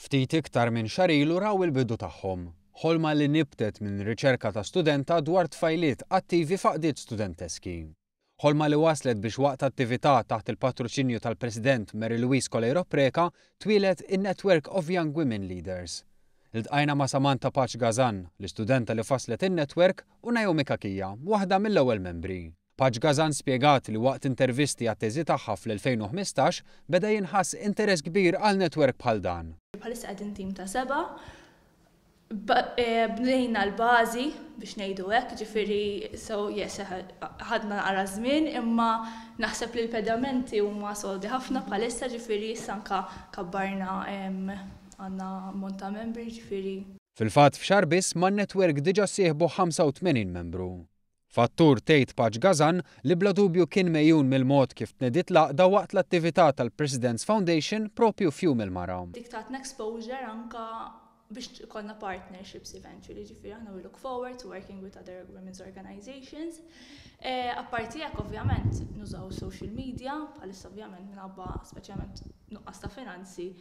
Ftit iktar minn xahar ilu raw il-bidu tagħhom. Ħolma li nibtet minn riċerka ta' studenta dwar tfajliet attivi f'għaqdiet studenteski. Ħolma li waslet biex waqt attività taħt il-patroċinju tal-President Mary Louise Coleiro Preca twieled in-Network of Young Women Leaders. Iltqajna ma' Samantha Pace Gazan, l-istudenta li faslet in-network, u Naomi Cachia, waħda mill-ewwel membri. Pace Gazan spjegat li waqt intervisti għat-teżi tagħha fl-2015 beda jinħass interess kbir għal network bħal dan. Bħalissa qegħdin tim ta' seba', bnejna l-bażi biex ngħidu hekk, ġifieri so yes ħadna naqra żmien imma naħseb li l-pedamenti huma sodi ħafna bħalissa ġifieri issa anka kabbarna għandna ammont ta' membri ġifieri. Fil-fatt f'xahar biss man-network diġà ssieħbu 85 membru. Fattur tgħid Pace Gazan li bla dubju kien megħjun mill-mod kif tnediet l-għaqda waqt l-attività tal-President's Foundation propju f'Jum il-Mara. Dik tatna exposure anka biex ikollna partnerships eventually, ġifieri aħna we look forward to working with other women's organizations. Apparti hekk ovvjament nużaw social media, bħalissa ovvjament minħabba speċjalment nuqqas ta' finanzi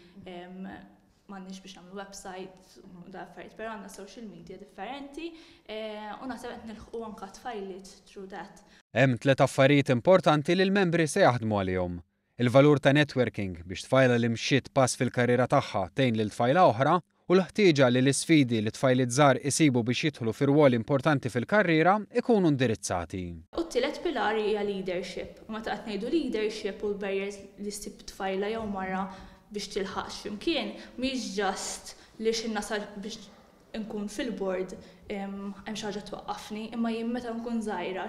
m'għandniex biex nagħmlu website u da affarijiet, però għandna social media differenti u naħseb qed nilħqu anka tfajliet through that. Hemm tliet affarijiet importanti li l-membri se jaħdmu għalihom. Il-valur ta' networking biex tfajla li mxiet pass fil-karriera tagħha tgħin lil tfajla oħra u l-ħtieġa li l-isfidi li tfajliet żgħar isibu biex jidħlu fi rwoli importanti fil-karriera ikunu indirizzati. U t-tielet pilar hija leadership. U meta qed ngħidu leadership u l-barriers li ssib tfajla jew mara biex tilħaq x'imkien, mhix just li xi nasal biex nkun fil-board hemm xi ħaġa twaqqafni, imma jien meta nkun żgħira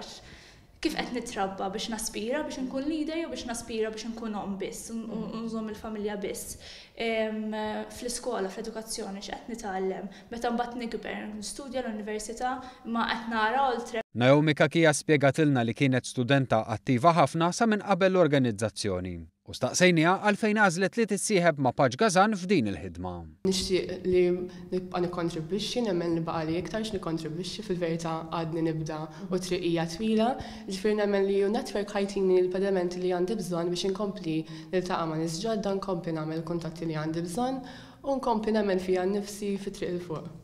kif qed nitrabba biex naspira biex nkun leader jew biex naspira biex nkun omm biss u nżomm il-familja biss. Fl-iskola, fl-edukazzjoni x'qed nitgħallem, meta mbagħad nikber, nistudja l-università, imma qed nara oltre. Naomi Cachia spjegatilna li kienet studenta attiva ħafna sa minn qabel l-organizzazzjoni u staqsejniha għalfejn għażlet li tissieħeb ma' Pace Gazan f'din il-ħidma. Nixtieq li nibqa' nikkontribwixxi, nemmen li baqali iktar x'nikkontribwixxi, fil-verità għadni nibda u triq hija twila. Ġifieri nemmen li network ħa jtini l-pedamenti li għandi bżonn biex inkompli niltaqa' ma' nies ġodda, nkompli nagħmel kuntatti li għandi bżonn u nkompli nemmen fija nnifsi fit-triq 'il fuq.